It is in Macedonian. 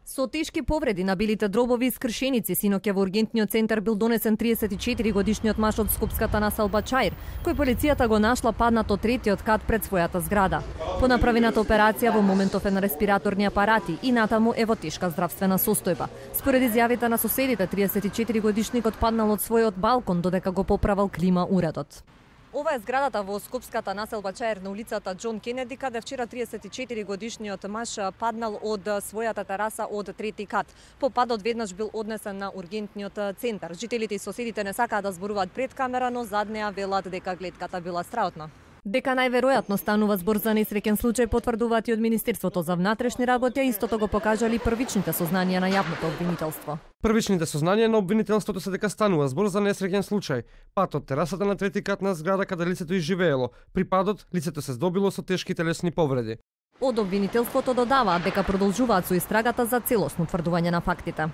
Со тешки повреди на билите дробови и скршеници синоќа во ургентниот центар бил донесен 34 годишниот маж од скопската населба Чаир, кој полицијата го нашла паднат од третиот кат пред својата зграда. По направената операција во моментов е на респираторни апарати и натаму е во тешка здравствена состојба. Според изјавите на соседите, 34 годишникот паднал од својот балкон додека го поправал клима уредот. Ова е зградата во скопската населба Чаир на улицата Џон Кенеди, каде вчера 34 годишниот маж паднал од својата тераса од трети кат. По падот веднаш бил однесен на ургентниот центар. Жителите и соседите не сакаат да зборуваат пред камера, но зад неа велат дека гледката била страутна. Дека најверојатно станува збор за несреќен случај, потврдуваат и од Министерството за внатрешни работи, а истото го покажали првичните сознанија на јавното обвинителство. Првичните сознанија на обвинителството се дека станува збор за несреќен случај. Пат од терасата на трети кат на зграда каде лицето изживеело. При падот лицето се здобило со тешки телесни повреди. Од обвинителството додаваат дека продолжуваат со истрагата за целосно утврдување на фактите.